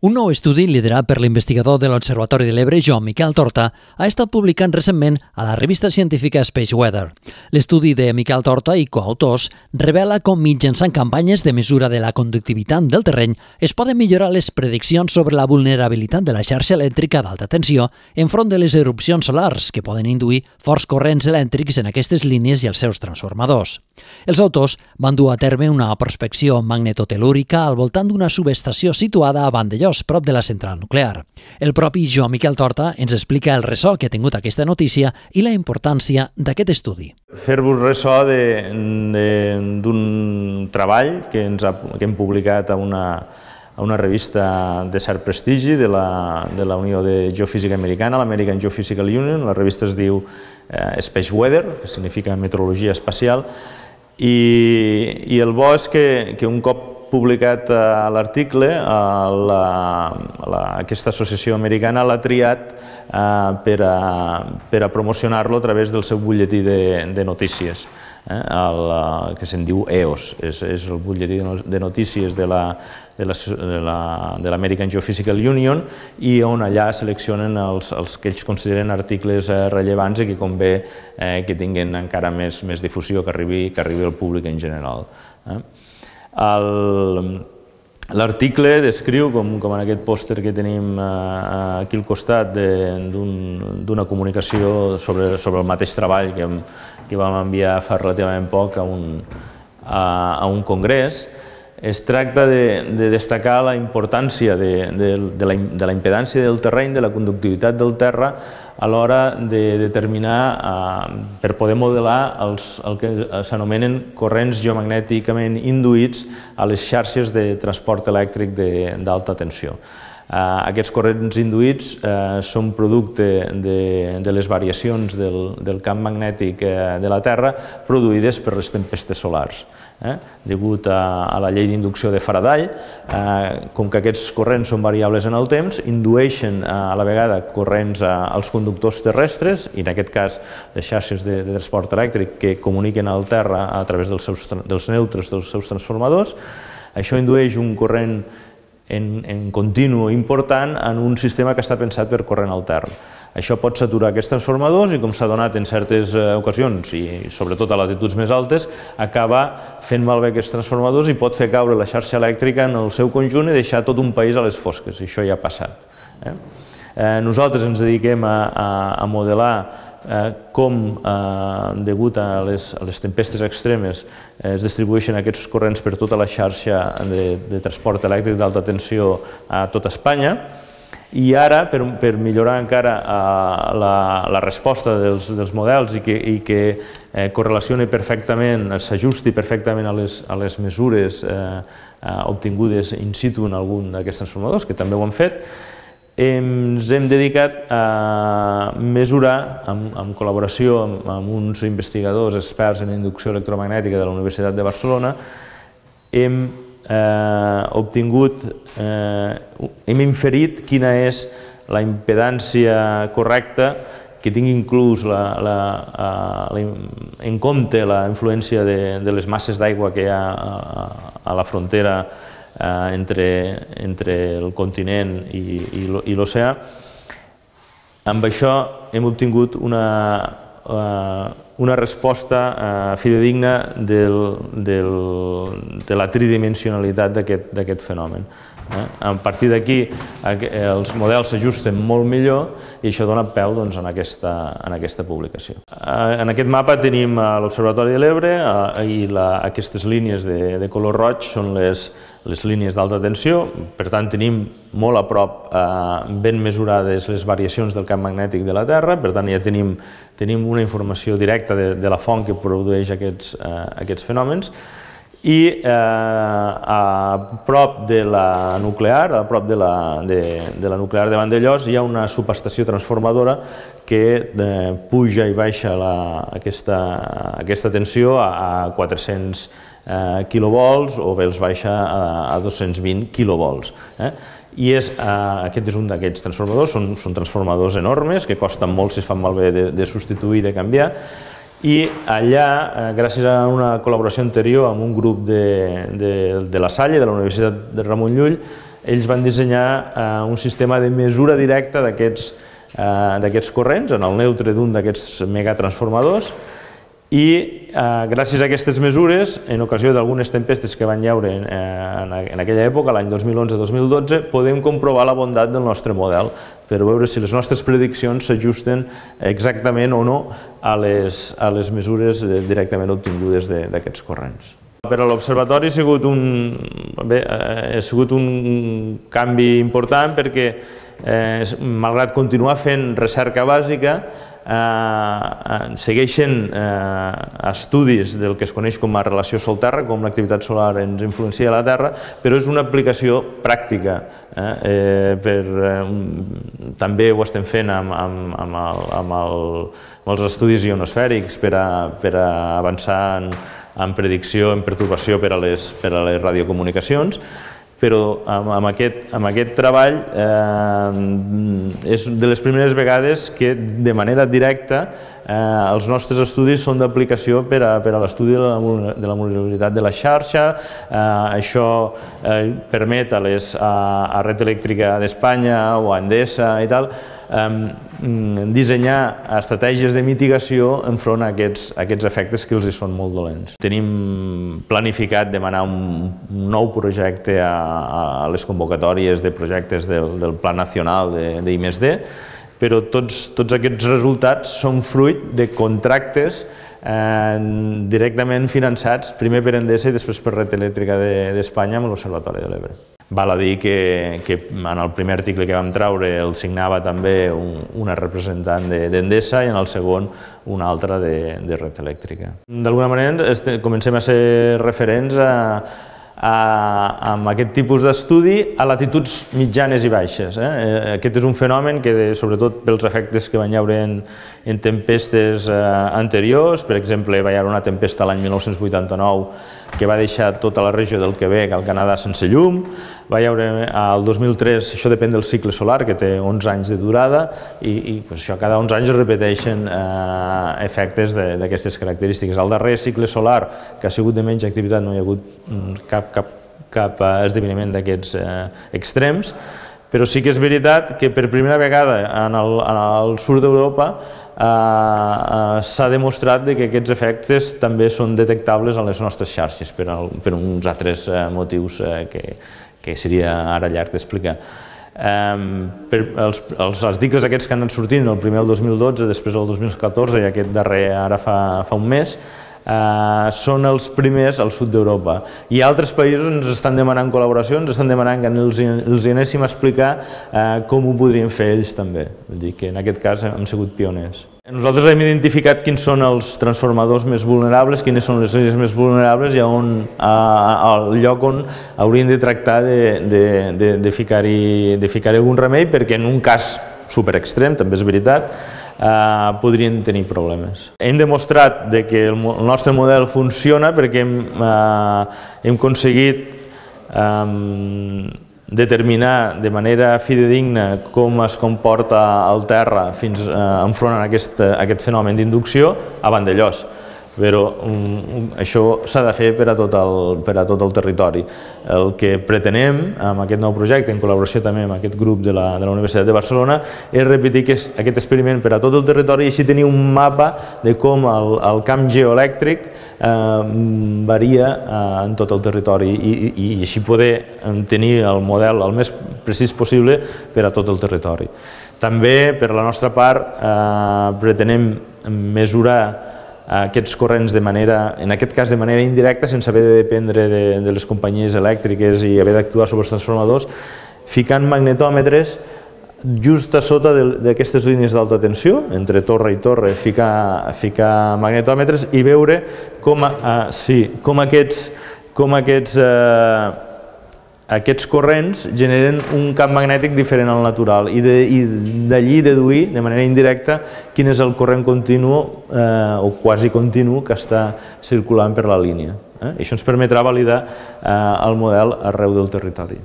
Un nou estudi liderat per l'investigador de l'Observatori de l'Ebre, Joan Miquel Torta, ha estat publicat recentment a la revista científica Space Weather. L'estudi de Miquel Torta i coautors revela com mitjançant campanyes de mesura de la conductivitat del terreny es poden millorar les prediccions sobre la vulnerabilitat de la xarxa elèctrica d'alta tensió enfront de les erupcions solars que poden induir forts corrents elèctrics en aquestes línies i els seus transformadors. Els autors van dur a terme una prospecció magnetotelúrica al voltant d'una subestació situada a Vandellós, prop de la central nuclear. El propi Joan Miquel Torta ens explica el ressò que ha tingut aquesta notícia i la importància d'aquest estudi. Fer-vos ressò d'un treball que hem publicat a una revista de cert prestigi de la Unió de Geofísica Americana, l'American Geophysical Union. La revista es diu Space Weather, que significa meteorologia espacial, i el bo és que un cop publicat l'article, aquesta associació americana l'ha triat per a promocionar-lo a través del seu butlletí de notícies, que se'n diu EOS, és el butlletí de notícies de l'American Geophysical Union, i on allà seleccionen els que ells consideren articles rellevants i que convé que tinguin encara més difusió, que arribi al públic en general. L'article descriu, com en aquest pòster que tenim aquí al costat, d'una comunicació sobre el mateix treball que vam enviar fa relativament poc a un congrés. Es tracta de destacar la importància de la impedància del terreny, de la conductivitat del terra, a l'hora de determinar, per poder modelar el que s'anomenen corrents geomagnèticament induïts a les xarxes de transport elèctric d'alta tensió. Aquests corrents induïts són producte de les variacions del camp magnètic de la Terra produïdes per les tempestes solars. Degut a la llei d'inducció de Faraday, com que aquests corrents són variables en el temps, indueixen a la vegada corrents als conductors terrestres, i en aquest cas les xarxes de transport elèctric que comuniquen al terra a través dels neutres dels seus transformadors. Això indueix un corrent en continu important en un sistema que està pensat per corrent altern. Això pot saturar aquests transformadors i, com s'ha donat en certes ocasions, i sobretot a latituds més altes, acaba fent malbé aquests transformadors i pot fer caure la xarxa elèctrica en el seu conjunt i deixar tot un país a les fosques. Això ja ha passat. Nosaltres ens dediquem a modelar com, degut a les tempestes extremes, es distribueixen aquests corrents per tota la xarxa de transport elèctric d'alta tensió a tota Espanya. I ara, per millorar encara la resposta dels models i que correlacioni perfectament, s'ajusti perfectament a les mesures obtingudes in situ en algun d'aquests transformadors, que també ho hem fet, ens hem dedicat a mesurar, en col·laboració amb uns investigadors experts en inducció electromagnètica de la Universitat de Barcelona, hem inferit quina és la impedància correcta que tingui inclús en compte la influència de les masses d'aigua que hi ha a la frontera entre el continent i l'oceà. Amb això hem obtingut una resposta fidedigna de la tridimensionalitat d'aquest fenomen. A partir d'aquí els models s'ajusten molt millor i això dona peu en aquesta publicació. En aquest mapa tenim l'Observatori de l'Ebre i aquestes línies de color roig són les línies d'alta tensió. Per tant, tenim molt a prop, ben mesurades les variacions del camp magnètic de la Terra. Per tant, ja tenim una informació directa de la font que produeix aquests fenòmens. I a prop de la nuclear, a prop de la nuclear de Vandellós, hi ha una subestació transformadora que puja i baixa aquesta tensió a 400 quilovolts o bé els baixa a 220 quilovolts. I aquest és un d'aquests transformadors, són transformadors enormes que costen molt si es fan malbé de substituir i de canviar. I allà, gràcies a una col·laboració anterior amb un grup de la Salle, de la Universitat de Ramon Llull, ells van dissenyar un sistema de mesura directa d'aquests corrents en el neutre d'un d'aquests megatransformadors i gràcies a aquestes mesures, en ocasió d'algunes tempestes que van llaure en aquella època, l'any 2011-2012, podem comprovar la bondat del nostre model per veure si les nostres prediccions s'ajusten exactament o no a les mesures directament obtingudes d'aquests corrents. Per a l'observatori ha sigut un canvi important perquè, malgrat continuar fent recerca bàsica, segueixen estudis del que es coneix com a relació Sol-Terra, com l'activitat solar ens influencia a la Terra, però és una aplicació pràctica. També ho estem fent amb els estudis ionosfèrics per a avançar en predicció, en pertorbació per a les radiocomunicacions, però amb aquest treball és de les primeres vegades que de manera directa els nostres estudis són d'aplicació per a l'estudi de la vulnerabilitat de la xarxa. Això permet a Red Eléctrica d'Espanya o a Endesa i tal dissenyar estratègies de mitigació enfront a aquests efectes que els són molt dolents. Tenim planificat demanar un nou projecte a les convocatòries de projectes del Pla Nacional d'I+D, però tots aquests resultats són fruit de contractes directament finançats primer per Endesa i després per Red Eléctrica d'Espanya amb l'Observatori de l'Ebre. Val a dir que en el primer article que vam treure el signava també una representant d'Endesa i en el segon una altra de Red Eléctrica. D'alguna manera comencem a ser referents amb aquest tipus d'estudi a latituds mitjanes i baixes. Aquest és un fenomen que, sobretot pels efectes que van llaure en tempestes anteriors, per exemple, va haver una tempesta l'any 1989 que va deixar tota la regió del Quebec al Canadà sense llum, va haver el 2003, això depèn del cicle solar, que té 11 anys de durada, i cada 11 anys es repeteixen efectes d'aquestes característiques. Al darrer cicle solar, que ha sigut de menys activitat, no hi ha hagut cap esdeveniment d'aquests extrems, però sí que és veritat que per primera vegada en el sud d'Europa s'ha demostrat que aquests efectes també són detectables a les nostres xarxes per uns altres motius que seria ara llarg d'explicar. Els articles aquests que han anat sortint, el primer el 2012, després el 2014 i aquest darrer ara fa un mes, són els primers al sud d'Europa. I altres països ens estan demanant col·laboració, ens estan demanant que els anéssim a explicar com ho podrien fer ells també. Vull dir que en aquest cas hem sigut pioners. Nosaltres hem identificat quins són els transformadors més vulnerables, quines són les línies més vulnerables i el lloc on hauríem de tractar de ficar-hi algun remei, perquè en un cas superextrem, també és veritat, podrien tenir problemes. Hem demostrat que el nostre model funciona perquè hem aconseguit determinar de manera fidedigna com es comporta el terra enfront a aquest fenomen d'inducció a Vandellòs. Però això s'ha de fer per a tot el territori. El que pretenem amb aquest nou projecte, en col·laboració també amb aquest grup de la Universitat de Barcelona, és repetir aquest experiment per a tot el territori i així tenir un mapa de com el camp geoelèctric varia en tot el territori i així poder tenir el model el més precís possible per a tot el territori. També, per la nostra part, pretenem mesurar aquests corrents en aquest cas de manera indirecta, sense haver de dependre de les companyies elèctriques i haver d'actuar sobre els transformadors, ficant magnetòmetres just a sota d'aquestes línies d'alta tensió, entre torre i torre, ficar magnetòmetres i veure com aquests corrents generen un camp magnètic diferent al natural i d'allí deduir de manera indirecta quin és el corrent continu o quasi continu que està circulant per la línia. Això ens permetrà validar el model arreu del territori.